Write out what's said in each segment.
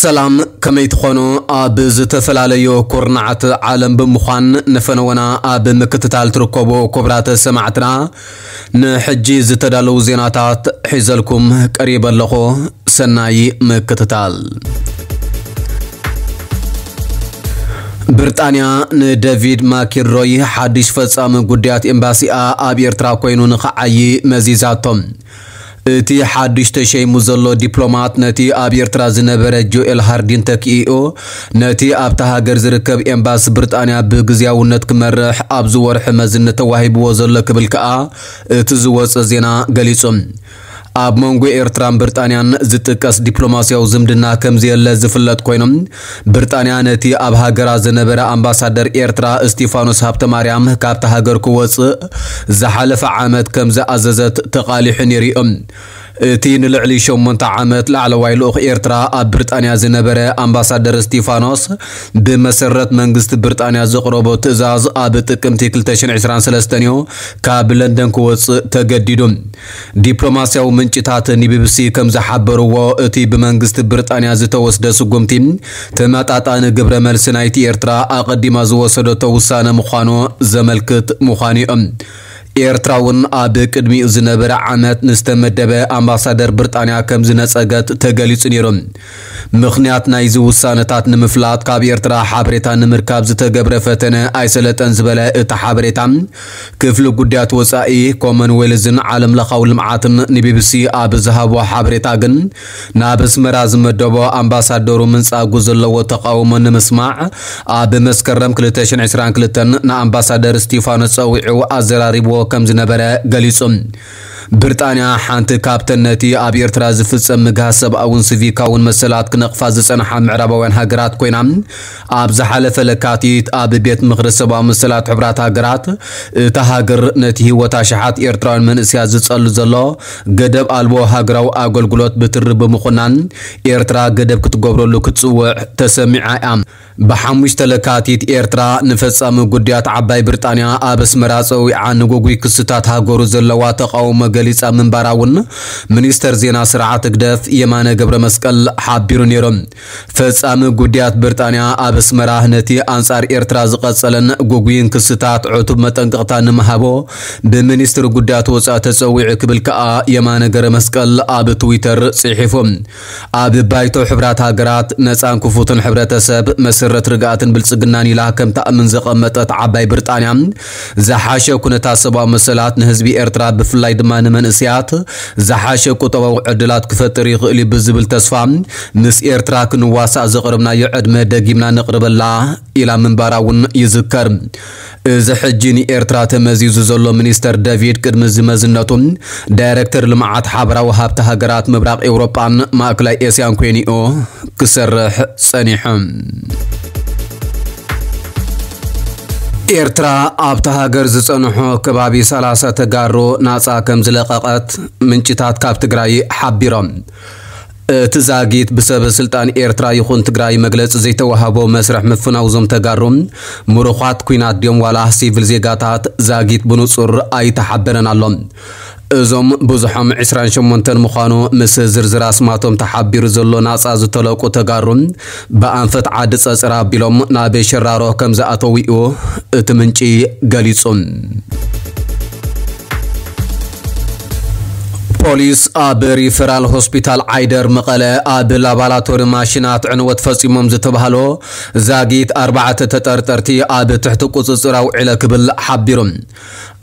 ሰላም፣ ከመይ ትኾኑ? ኣብ ዝተፈላለዩ ኩርናዓት ዓለም ብምዃን ንፈነወና ኣብ ምክትታል ትርከቡ ክቡራት ሰማዕትና፣ ንሕጂ ዝተዳለዉ ዜናታት ሒዘልኩም ቀሪበ ኣለኹ። ሰናይ ምክትታል። ብሪጣንያ ንደቪድ ማኪንሮይ ሓድሽ ፈጻሚ ጉዳያት ኤምባሲኣ ኣብ ኤርትራ ኮይኑ ንኽዓዪ መዚዛቶ። እቲ ሓድሽ ተሸይሙ ዘሎ ዲፕሎማት ነቲ ኣብ ኤርትራ ዝነበረ ጆኤል ሃርዲን ተኪኡ፣ ነቲ ኣብታ ሃገር ዝርከብ ኤምባሲ ብሪጣንያ ብግዝያውነት ክመርሕ ኣብዚ ወርሒ መዝነት ተዋሂብዎ ዘሎ ክብል ከኣ እቲ ዝወጸ ዜና ገሊጹ። ኣብ መንጎ ኤርትራን ብሪጣንያን ዝጥቀስ ዲፕሎማስያዊ ዝምድና ከም ዘየለ ዝፍለጥ ኮይኑ፣ ብሪጣንያ ነቲ ኣብ ሃገራ ዝነበረ ኣምባሳደር ኤርትራ እስቲፋኖስ ሃብተማርያም ካብታ ሃገር ክወጽእ ዝሓለፈ ዓመት ከም ዝኣዘዘት ተቓሊሑ ነይሩ እዩ። እቲ ንልዕሊ ሸሞንተ ዓመት ላዕለዋይ ልኡኽ ኤርትራ ኣብ ብሪጣንያ ዝነበረ ኣምባሳደር እስቲፋኖስ፣ ብመሰረት መንግስቲ ብሪጣንያ ዘቕረቦ ትእዛዝ ኣብ ጥቅምቲ ክልተ ሽሕን ዕስራን ሰለስተን እዩ ካብ ለንደን ክወጽእ ተገዲዱ። ዲፕሎማስያዊ ምንጭታት ንቢቢሲ ከም ዝሓበርዎ፣ እቲ ብመንግስቲ ብሪጣንያ ዝተወስደ ስጉምቲ፣ ተመጣጣኒ ግብረ መልሲ ናይቲ ኤርትራ ኣቐዲማ ዝወሰደቶ ውሳነ ምዃኑ ዘመልክት ምዃኑ እዩ። ኤርትራ እውን ኣብ ቅድሚኡ ዝነበረ ዓመት ንዝተመደበ ኣምባሳደር ብሪጣንያ ከም ዝነጸገት ተገሊጹ ነይሩ። ምኽንያት ናይዚ ውሳነታት ንምፍላጥ ካብ ኤርትራ ሓበሬታ ንምርካብ ዝተገብረ ፈተነ ኣይሰለጠን ዝበለ እቲ ሓበሬታ፣ ክፍሊ ጉዳያት ወጻኢ፣ ኮመንዌልዝን ዓለም ለኻዊ ልምዓትን ንቢቢሲ ኣብ ዝሃቦ ሓበሬታ ግን፣ ናብ ኣስመራ ዝመደቦ ኣምባሳደሩ ምንጻጉ ዘለዎ ተቓውሞ ንምስማዕ፣ ኣብ መስከረም ክልተ ሽሕን ዕስራን ክልተን ንኣምባሳደር ስቲፋኖስ ጸዊዑ ኣዘራሪብዎ ከም ዝነበረ ገሊጹ። ብሪጣንያ ሓንቲ ካብተን ነቲ ኣብ ኤርትራ ዝፍጸም ምግሃስ ሰብኣውን ሲቪካውን መሰላት ክነቕፋ ዝጸንሓ ምዕራባውያን ሃገራት ኮይና፣ ኣብ ዝሓለፈ ለካቲት ኣብ ቤት ምኽሪ ሰብኣዊ መሰላት ሕቡራት ሃገራት፣ እታ ሃገር ነቲ ህይወት ኣሽሓት ኤርትራውያን መንእሰያት ዝጸሉ ዘሎ ገደብ ኣልቦ ሃገራዊ ኣገልግሎት ብትሪ ብምኹናን፣ ኤርትራ ገደብ ክትገብረሉ ክትጽውዕ ተሰሚዓ እያ። ብሓሙሽተ ለካቲት ኤርትራ ንፈጻሚ ጉዳያት ዓባይ ብሪጣንያ ኣብ ኣስመራ ጸዊዓ ንጉጉይ ክስታት ሃገሩ ዘለዋ ተቓውሞ ገሊጻ ምንባራ እውን ሚኒስተር ዜና ስርዓት ህግደፍ የማነ ገብረ መስቀል ሓቢሩ ነይሩ። ፈጻሚ ጉዳያት ብሪጣንያ ኣብ ኣስመራ ነቲ ኣንጻር ኤርትራ ዝቐጸለን ጉጉይን ክስታት ዕቱብ መጠንቀቕታ ንምሃቦ ብሚኒስትሪ ጉዳያት ወጻኢ ተጸዊዑ ክብል ከኣ የማነ ገብረ መስቀል ኣብ ትዊተር ጽሒፉ። ኣብ ባይቶ ሕብራት ሃገራት ነጻን ክፉትን ሕብረተሰብ መሰረት ርግኣትን ብልጽግናን ኢላ ከም ተኣምን ዘቐመጠት ዓባይ ብሪጣንያ፣ ዝሓሸ ኩነታት ሰብኣዊ መሰላት ንህዝቢ ኤርትራ ብፍላይ ድማ ንመንእሰያት ዝሓሸ ቁጠባዊ ዕድላት ክፈጥር ይኽእል እዩ ብዝብል ተስፋ፣ ምስ ኤርትራ ክንዋሳእ ዘቕረብናዮ ዕድመ ደጊምና ነቕርበላ ኢላ ምንባራ እውን ይዝከር። እዚ ሕጂ ንኤርትራ ተመዚዙ ዘሎ ሚኒስተር ደቪድ ቅድሚ እዚ መዝነቱ ዳይረክተር ልምዓት ሓበራዊ ሃብቲ ሃገራት ምብራቕ ኤውሮጳን ማእከላይ ኤስያን ኮይኑ'ዩ ክሰርሕ ጸኒሑ። ኤርትራ ኣብታ ሃገር ዝጸንሑ ከባቢ ሰላሳ ተጋሩ ናጻ ከም ዝለቐቐት ምንጭታት ካብ ትግራይ ሓቢሮም። እቲ ዛጊት ብሰበ ስልጣን ኤርትራ ይኹን ትግራይ መግለጺ ዘይተዋህቦ መስርሕ ምፍናው እዞም ተጋሩ ምሩኻት ኲናት ድዮም ዋላ ሲቪል ዜጋታት ዛጊት ብንጹር ኣይተሓበረን ኣሎ። እዞም ብዙሖም ዕስራን ሸሞንተን ምዃኑ ምስ ዝርዝር ኣስማቶም ተሓቢሩ ዘሎ ናጻ ዝተለቁ ተጋሩ ብኣንፈት ዓዲ ጸጸር ኣቢሎም ናብ ሸራሮ ከም ዝኣተዉ እዩ እቲ ምንጪ ገሊጹ። ፖሊስ ኣብ ሪፈራል ሆስፒታል ዓይደር መቐለ ኣብ ላባላቶሪ ማሽናት ዕንወት ፈጺሞም ዝተባህሎ ዛጊት ኣርባዕተ ተጠርጠርቲ ኣብ ትሕቲ ቁጽጽር ኣውዒለ ክብል ሓቢሩ።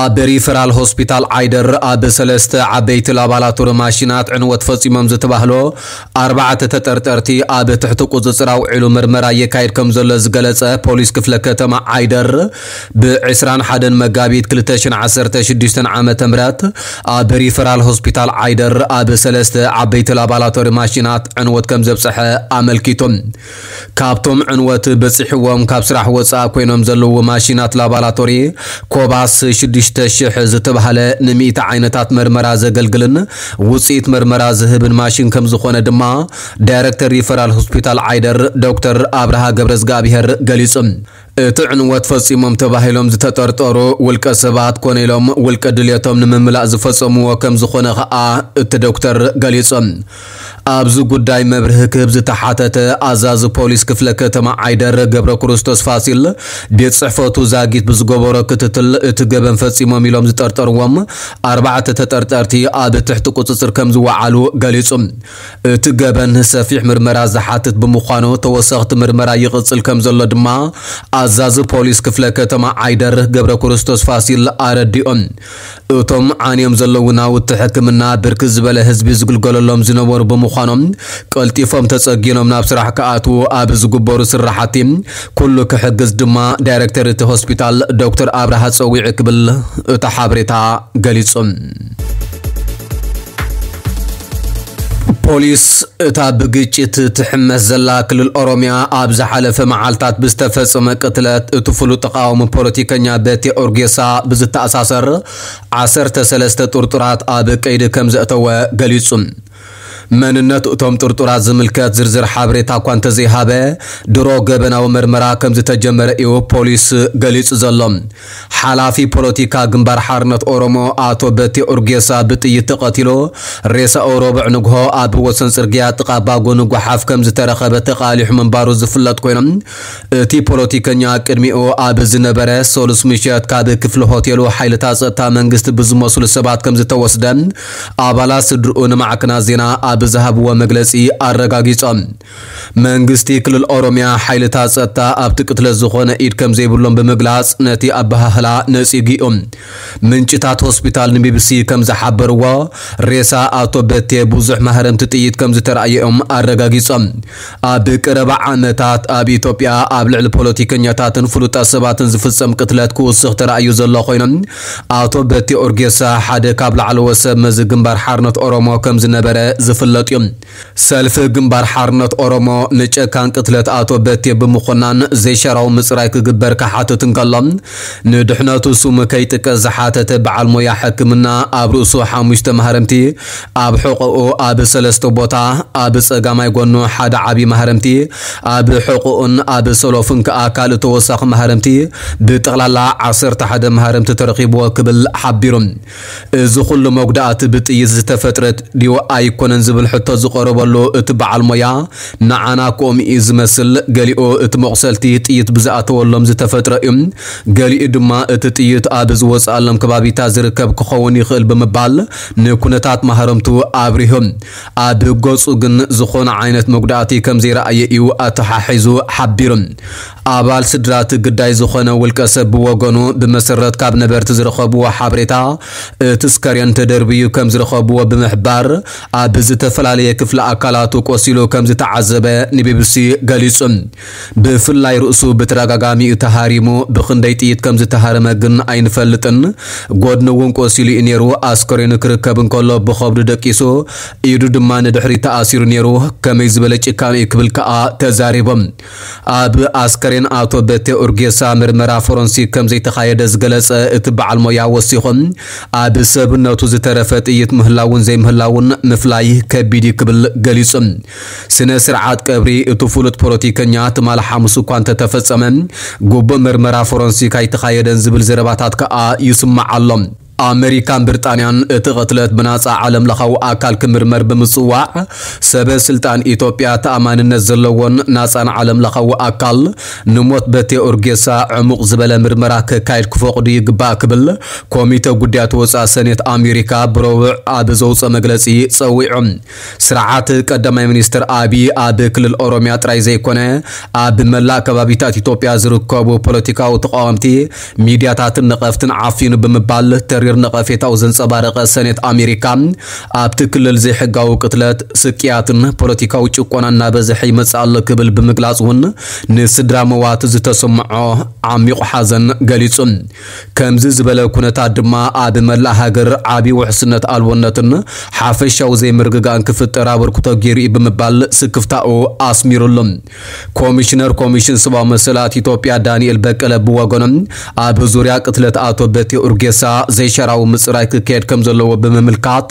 ኣብ ሪፈራል ሆስፒታል ዓይደር ኣብ ሰለስተ ዓበይቲ ላባላቶሪ ማሽናት ዕንወት ፈጺሞም ዝተባህሎ ኣርባዕተ ተጠርጠርቲ ኣብ ትሕቲ ቁጽጽር ኣውዒሉ ምርመራ የካይድ ከም ዘሎ ዝገለጸ ፖሊስ ክፍለ ከተማ ዓይደር፣ ብ ዕስራን ሓደን መጋቢት ክልተ ሽሕን ዓሰርተ ሽዱሽተን ዓመተ ምህረት ኣብ ሪፈራል ሆስፒታል ዓይደር ኣብ ሰለስተ ዓበይቲ ላባላቶሪ ማሽናት ዕንወት ከም ዘብጽሐ ኣመልኪቱ። ካብቶም ዕንወት በጺሕዎም ካብ ስራሕ ወጻኢ ኮይኖም ዘለዉ ማሽናት ላባላቶሪ ኮባስ ሽዱሽተ ሽሕ ዝተባህለ ንሚእቲ ዓይነታት መርመራ ዘገልግልን ውጽኢት መርመራ ዝህብን ማሽን ከም ዝኾነ ድማ ዳይረክተር ሪፈራል ሆስፒታል ዓይደር ዶክተር ኣብርሃ ገብረዝጋብሄር ገሊጹ። እቲ ዕንወት ፈጺሞም ተባሂሎም ዝተጠርጠሩ ውልቀ ሰባት ኮነ ኢሎም ውልቀ ድልየቶም ንምምላእ ዝፈጸምዎ ከም ዝኾነ ኸኣ እቲ ዶክተር ገሊጹ። ኣብዚ ጉዳይ መብርሂ ክህብ ዝተሓተተ ኣዛዚ ፖሊስ ክፍለ ከተማ ዓይደር ገብረ ክርስቶስ ፋሲል፣ ቤት ጽሕፈቱ ዛጊት ብዝገበሮ ክትትል እቲ ገበን ፈጺሞም ኢሎም ዝጠርጠርዎም ኣርባዕተ ተጠርጠርቲ ኣብ ትሕቲ ቁጽጽር ከም ዝወዓሉ ገሊጹ። እቲ ገበን ሰፊሕ ምርመራ ዝሓትት ብምዃኑ ተወሰኽቲ ምርመራ ይቕጽል ከም ዘሎ ድማ ኣዛዚ ፖሊስ ክፍለ ከተማ ዓይደር ገብረ ክርስቶስ ፋሲል ኣረዲኦም። እቶም ዓንዮም ዘለዉ ናውቲ ሕክምና ብርክት ዝበለ ህዝቢ ዝግልገለሎም ዝነበሩ ብምዃኖም ቀልጢፎም ተጸጊኖም ናብ ስራሕ ክኣትዉ ኣብ ዝግበሩ ስራሓቲ ኩሉ ክሕግዝ ድማ ዳይሬክተር እቲ ሆስፒታል ዶክተር ኣብርሃ ጸዊዑ ክብል እቲ ሓበሬታ ገሊጹ። ፖሊስ እታ ብግጭት ትሕመስ ዘላ ክልል ኦሮሚያ ኣብ ዝሓለፈ መዓልታት ብዝተፈጸመ ቅትለት እቲ ፍሉጥ ተቃዋሚ ፖለቲከኛ በቴ ኦርጌሳ ብዝተኣሳሰር ዓሰርተ ሰለስተ ጥርጡራት ኣብ ቀይዲ ከም ዘእተወ ገሊጹ። መንነት እቶም ጥርጡራት ዝምልከት ዝርዝር ሓበሬታ እኳ እንተዘይሃበ፣ ድሮ ገበናዊ መርመራ ከም ዝተጀመረ እዩ ፖሊስ ገሊጹ ዘሎ። ሓላፊ ፖለቲካ ግንባር ሓርነት ኦሮሞ ኣቶ በቴ ኡርጌሳ ብጥይት ተቐቲሉ፣ ሬሳኡ ረቡዕ ንግሆ ኣብ ወሰን ጽርግያ ጥቓ ባጎኒ ጓሓፍ ከም ዝተረኸበ ተቓሊሑ ምንባሩ ዝፍለጥ ኮይኑ፣ እቲ ፖለቲከኛ ቅድሚኡ ኣብ ዝነበረ ሰሉስ ምሸት ካብ ክፍሊ ሆቴሉ ሓይልታት ጸጥታ መንግስቲ ብዝመስሉ ሰባት ከም ዝተወስደ ኣባላት ስድርኡ ንማዕከናት ዜና ኣብ ዝሃብዎ መግለጺ ኣረጋጊጾም። መንግስቲ ክልል ኦሮሚያ ሓይልታት ጸጥታ ኣብቲ ቅትለት ዝኾነ ኢድ ከም ዘይብሎም ብምግላጽ ነቲ ኣበሃህላ ነጺጉ እዩ። ምንጭታት ሆስፒታል ንቢቢሲ ከም ዝሓበርዎ፣ ሬሳ ኣቶ በቴ ብዙሕ ማህረምቲ ጥይት ከም ዝተራእየ እዮም ኣረጋጊጾም። ኣብ ቀረባ ዓመታት ኣብ ኢትዮጵያ ኣብ ልዕሊ ፖለቲከኛታትን ፍሉጣት ሰባትን ዝፍጸም ቅትለት ክውስኽ ተራእዩ ዘሎ ኮይኑ፣ ኣቶ በቴ ኦርጌሳ ሓደ ካብ ላዕለዎት ሰብ መዚ ግንባር ሓርነት ኦሮሞ ከም ዝነበረ ዝፍለጥ እዩ። ሰልፊ ግንባር ሓርነት ኦሮሞ ንጨካን ቅትለት ኣቶ በቴ ብምኹናን ዘይሻራዊ ምጽራይ ክግበር ክሓትት እንከሎ፣ ንድሕነቱ ስሙ ከይጥቀስ ዝሓተተ በዓል ሞያ ሕክምና ኣብ ርእሱ ሓሙሽተ ማህረምቲ፣ ኣብ ሕቖኡ ኣብ ሰለስተ ቦታ፣ ኣብ ጸጋማይ ጎኑ ሓደ ዓቢ ማህረምቲ፣ ኣብ ሕቖኡን ኣብ ሰሎፉን ከኣ ካልእ ተወሳኺ ማህረምቲ፣ ብጠቕላላ ዓሰርተ ሓደ ማህረምቲ ተረኺብዎ ክብል ሓቢሩ። እዚ ኩሉ መጉዳእቲ ብጥይት ዝተፈጥረ ድዩ ኣይኮነን ዝብል ሕቶ ዝቐረበሉ እቲ በዓል ሞያ፣ ንዓና ከምኡ እዩ ዝመስል፣ ገሊኡ እቲ መቑሰልቲ ጥይት ብዝኣተወሎም ዝተፈጥረ እዩ፣ ገሊኡ ድማ እቲ ጥይት ኣብ ዝወፅኣሎም ከባቢታት ዝርከብ ክኸውን ይኽእል ብምባል ንኩነታት ማህረምቱ ኣብሪሁ። ኣብ ገፁ ግን ዝኾነ ዓይነት መጉዳእቲ ከም ዘይረኣየ እዩ ኣተሓሒዙ ሓቢሩ። ኣባል ስድራ እቲ ግዳይ ዝኾነ ውልቀ ሰብ ብወገኑ፣ ብመሰረት ካብ ነበርቲ ዝረኸብዎ ሓበሬታ፣ እቲ ስከሬን ተደርብዩ ከም ዝረኸብዎ ብምሕባር፣ ኣብ ዝተፈላለየ ክፍሊ ኣካላቱ ቆሲሉ ከም ዝተዓዘበ ንቢቢሲ ገሊጹ። ብፍላይ ርእሱ ብተደጋጋሚ እዩ ተሃሪሙ፣ ብኽንደይ ጥይት ከም ዝተሃረመ ግን ኣይንፈልጥን። ጎድኑ እውን ቆሲሉ እዩ ነይሩ። ኣስከሬኑ ክርከብ እንከሎ ብኸብዱ ደቂሱ፣ ኢዱ ድማ ንድሕሪት ተኣሲሩ ነይሩ። ከመይ ዝበለ ጭካነ እዩ ክብል ከኣ ተዛሪቦም። ኣብ ኣስከሬን ኣቶ በቴ ኡርጌሳ ምርመራ ፎረንሲክ ከም ዘይተኻየደ ዝገለጸ እቲ በዓል ሞያ ወሲኹ፣ ኣብ ሰብነቱ ዝተረፈ ጥይት ምህላውን ዘይምህላውን ምፍላይ ከቢድ እዩ ክብል ገሊጹ። ስነ ስርዓት ቀብሪ እቲ ፍሉጥ ፖለቲከኛ ትማሊ ሓሙስ እኳ እንተተፈጸመ፣ ግቡእ ምርመራ ፎረንሲክ ኣይተኻየደን ዝብል ዘረባታት ከኣ ይስማዕ ኣሎ። ኣመሪካን ብሪጣንያን እቲ ቅትለት ብናጻ ዓለም ለኻዊ ኣካል ክምርመር ብምጽዋዕ፣ ሰበ ስልጣን ኢትዮጵያ ተኣማንነት ዘለዎን ናጻን ዓለም ለኻዊ ኣካል ንሞት በቴ ኡርጌሳ ዕሙቕ ዝበለ ምርመራ ከካይድ ክፈቕዱ ይግባእ ክብል ኮሚተ ጉዳያት ወጻኢ ሰኔት ኣሜሪካ ብረቡዕ ኣብ ዘውጽኦ መግለጺ ጸዊዑ። ስርዓት ቀዳማይ ሚኒስትር ኣቢይ ኣብ ክልል ኦሮሚያ ጥራይ ዘይኮነ፣ ኣብ መላእ ከባቢታት ኢትዮጵያ ዝርከቡ ፖለቲካዊ ተቃወምቲ፣ ሚድያታትን ነቐፍትን ዓፊኑ ብምባል ተሪር ነቐፌታኡ ዘንጸባረቐ ሰኔት ኣሜሪካ፣ ኣብቲ ክልል ዘይሕጋዊ ቅትለት፣ ስቅያትን ፖለቲካዊ ጭቆና እናበዝሐ ይመጽእ ኣሎ ክብል ብምግላጽ እውን ንስድራ መዋቲ ዝተሰምዖ ዓሚቑ ሓዘን ገሊጹ። ከምዚ ዝበለ ኩነታት ድማ ኣብ መላእ ሃገር ዓቢ ውሕስነት ኣልቦነትን ሓፈሻዊ ዘይምርግጋእን ክፍጠር ኣበርክቶ ገይሩ እዩ ብምባል ስክፍታኡ ኣስሚሩሉ። ኮሚሽነር ኮሚሽን ሰብኣዊ መሰላት ኢትዮጵያ ዳንኤል በቀለ ብወገኖም፣ ኣብ ዙርያ ቅትለት ኣቶ በቴ ኡርጌሳ ዘይሻ ሸራዊ ምጽራይ ክካየድ ከም ዘለዎ ብምምልካት፣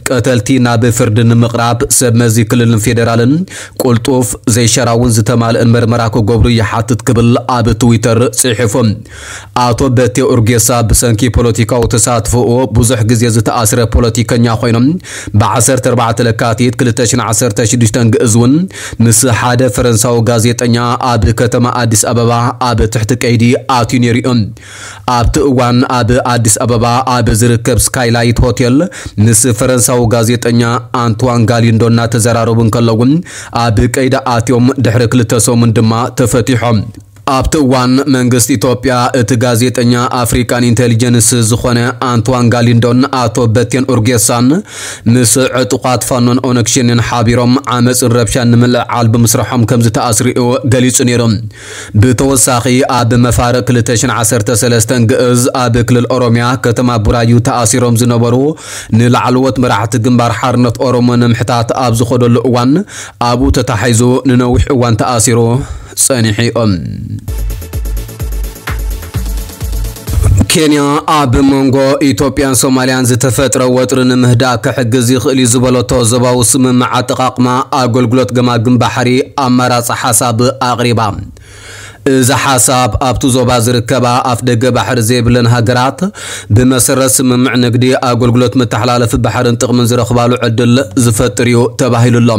ቀተልቲ ናብ ፍርዲ ንምቕራብ ሰብ መዚ ክልልን ፌደራልን ቁልጡፍ፣ ዘይሸራውን ዝተማልእን መርመራ ክገብሩ ይሓትት ክብል ኣብ ትዊተር ጽሒፉ። ኣቶ በቴ ኡርጌሳ ብሰንኪ ፖለቲካዊ ተሳትፎኡ ብዙሕ ግዜ ዝተኣስረ ፖለቲከኛ ኮይኖም፣ ብ ዓሰርተ ኣርባዕተ ለካቲት ክልተ ሽሕን ዓሰርተ ሽዱሽተን ግእዝ እውን ምስ ሓደ ፈረንሳዊ ጋዜጠኛ ኣብ ከተማ ኣዲስ ኣበባ ኣብ ትሕቲ ቀይዲ ኣትዩ ነይሩ እዩ። ኣብቲ እዋን ኣብ ኣዲስ ኣበባ ኣብ ዝርከብ ስካይላይት ሆቴል ምስ ፈረንሳዊ ጋዜጠኛ ኣንትዋን ጋሊንዶ እናተዘራረቡ እንከለዉ፣ ኣብ ቀይዲ ኣትዮም ድሕሪ ክልተ ሰሙን ድማ ተፈቲሖም። ኣብቲ እዋን መንግስቲ ኢትዮጵያ እቲ ጋዜጠኛ ኣፍሪካን ኢንቴሊጀንስ ዝኾነ ኣንትዋን ጋሊንዶን ኣቶ በቴን ኡርጌሳን ምስ ዕጡቓት ፋኖን ኦነግ ሸኔን ሓቢሮም ዓመፅን ረብሻን ንምልዕዓል ብምስርሖም ከም ዝተኣስሩ እዩ ገሊጹ ነይሩ። ብተወሳኺ ኣብ መፋርቕ ክልተ ሽሕን ዓሰርተ ሰለስተን ግእዝ ኣብ ክልል ኦሮሚያ ከተማ ቡራዩ ተኣሲሮም ዝነበሩ ንላዕለዎት መራሕቲ ግንባር ሓርነት ኦሮሞ ንምሕታት ኣብ ዝኸደሉ እዋን ኣብኡ ተታሒዙ ንነዊሕ እዋን ተኣሲሩ ጸኒሑ እዩ። ኬንያ ኣብ መንጎ ኢትዮጵያን ሶማልያን ዝተፈጥረ ወጥሪ ንምህዳእ ክሕግዝ ይኽእል እዩ ዝበለቶ ዞባዊ ስምምዕ ኣጠቓቕማ ኣገልግሎት ገማግም ባሕሪ ኣማራጺ ሓሳብ ኣቕሪባ። እዚ ሓሳብ ኣብቲ ዞባ ዝርከባ ኣፍ ደገ ባሕሪ ዘይብለን ሃገራት ብመሰረት ስምምዕ ንግዲ ኣገልግሎት መተሓላለፊ ባሕርን ጥቕምን ዝረኽባሉ ዕድል ዝፈጥር እዩ ተባሂሉ ኣሎ።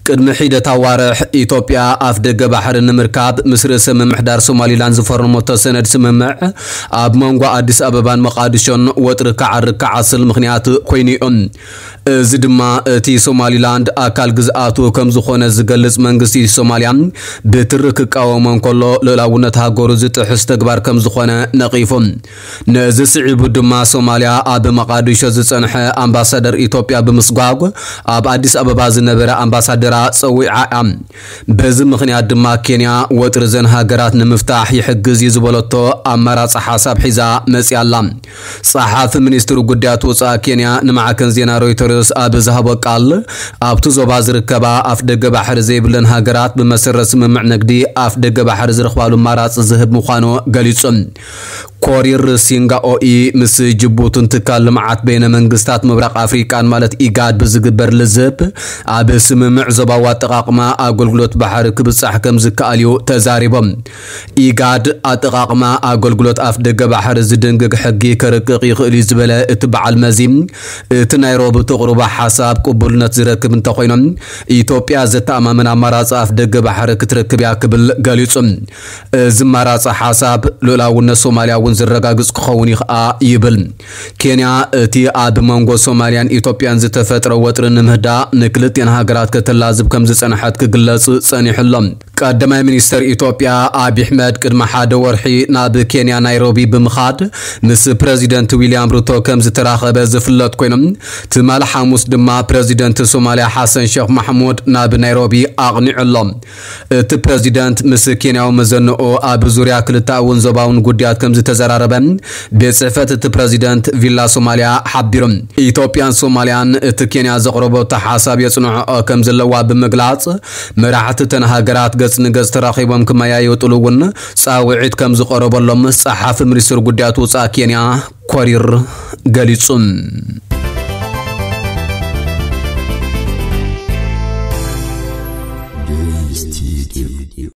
ቅድሚ ሒደት ኣዋርሕ ኢትዮጵያ ኣፍ ደገ ባሕሪ ንምርካብ ምስ ርእሰ ምምሕዳር ሶማሊላንድ ዝፈረመቶ ሰነድ ስምምዕ ኣብ መንጎ ኣዲስ ኣበባን መቓድሾን ወጥሪ ክዓርግ ክዓስል ምኽንያት ኮይኑ እዩ። እዚ ድማ እቲ ሶማሊላንድ ኣካል ግዝኣቱ ከም ዝኾነ ዝገልጽ መንግስቲ ሶማልያ ብትሪ ክቃወሞ እንከሎ ልኡላውነት ሃገሩ ዝጥሕስ ተግባር ከም ዝኾነ ነቒፉ። ነዚ ስዒቡ ድማ ሶማልያ ኣብ መቓዲሾ ዝጸንሐ ኣምባሳደር ኢትዮጵያ ብምስጓግ ኣብ ኣዲስ ኣበባ ዝነበረ ኣምባሳደራ ጸዊዓ እያ። በዚ ምኽንያት ድማ ኬንያ ወጥሪ ዘን ሃገራት ንምፍታሕ ይሕግዝ እዩ ዝበለቶ ኣማራጺ ሓሳብ ሒዛ መጺኣ ኣላ። ጸሓፊ ሚኒስትሪ ጉዳያት ወጻኢ ኬንያ ንማዕከን ዜና ሮይተርስ ኣብ ዝሃቦ ቃል፣ ኣብቲ ዞባ ዝርከባ ኣፍ ደገ ባሕሪ ዘይብለን ሃገራት ብመሰረት ስምምዕ ንግዲ ኣፍ ደገ ባሕሪ ዝረኽባሉ ኣማራጺ ዝህብ ምዃኑ ገሊጹ። ኮሪር ሲንጋኦኢ ምስ ጅቡትን ትካል ልምዓት በይነ መንግስታት ምብራቕ ኣፍሪቃን ማለት ኢጋድ ብዝግበር ልዝብ ኣብ ስምምዕ ዞባዊ ኣጠቓቕማ ኣገልግሎት ባሕሪ ክብጻሕ ከም ዝከኣል እዩ ተዛሪቦም። ኢጋድ ኣጠቓቕማ ኣገልግሎት ኣፍ ደገ ባሕሪ ዝድንግግ ሕጊ ከርቅቕ ይኽእል እዩ ዝበለ እቲ በዓል መዚ፣ እቲ ናይሮቢ ተቕርቦ ሓሳብ ቅቡልነት ዝረክብ እንተኾይኖም፣ ኢትዮጵያ ዘተኣማምን ኣማራጺ ኣፍ ደገ ባሕሪ ክትረክብ እያ ክብል ገሊጹ። እዚ ኣማራጺ ሓሳብ ልኡላውነት ሶማልያ እውን ዝረጋግጽ ክኸውን ይኽኣ ይብል። ኬንያ እቲ ኣብ መንጎ ሶማልያን ኢትዮጵያን ዝተፈጥረ ወጥሪ ንምህዳእ ንክልቲኣን ሃገራት ከተላዝብ ከም ዝጸንሐት ክግለጽ ጸኒሑ ኣሎ። ቀዳማይ ሚኒስተር ኢትዮጵያ ኣብይ ኣሕመድ ቅድሚ ሓደ ወርሒ ናብ ኬንያ ናይሮቢ ብምኻድ ምስ ፕረዚደንት ዊልያም ሩቶ ከም ዝተራኸበ ዝፍለጥ ኮይኑ፣ ትማሊ ሓሙስ ድማ ፕረዚደንት ሶማልያ ሓሰን ሸኽ ማሕሙድ ናብ ናይሮቢ ኣቕኒዑ ኣሎ። እቲ ፕረዚደንት ምስ ኬንያዊ መዘንኡ ኣብ ዙርያ ክልተኣውን ዞባውን ጉዳያት ከም ዝተዘራረበ ቤት ጽሕፈት እቲ ፕረዚደንት ቪላ ሶማልያ ሓቢሩ። ኢትዮጵያን ሶማልያን እቲ ኬንያ ዘቕረበቶ ሓሳብ የጽንዕኦ ከም ዘለዋ ብምግላጽ፣ መራሕቲ እተን ሃገራት ገጽ ንገጽ ተራኺቦም ክመያየጥሉ እውን ጻውዒት ከም ዝቐረበሎም ጸሓፊ ሚኒስትሪ ጉዳያት ወጻኢ ኬንያ ኮሪር ገሊጹ።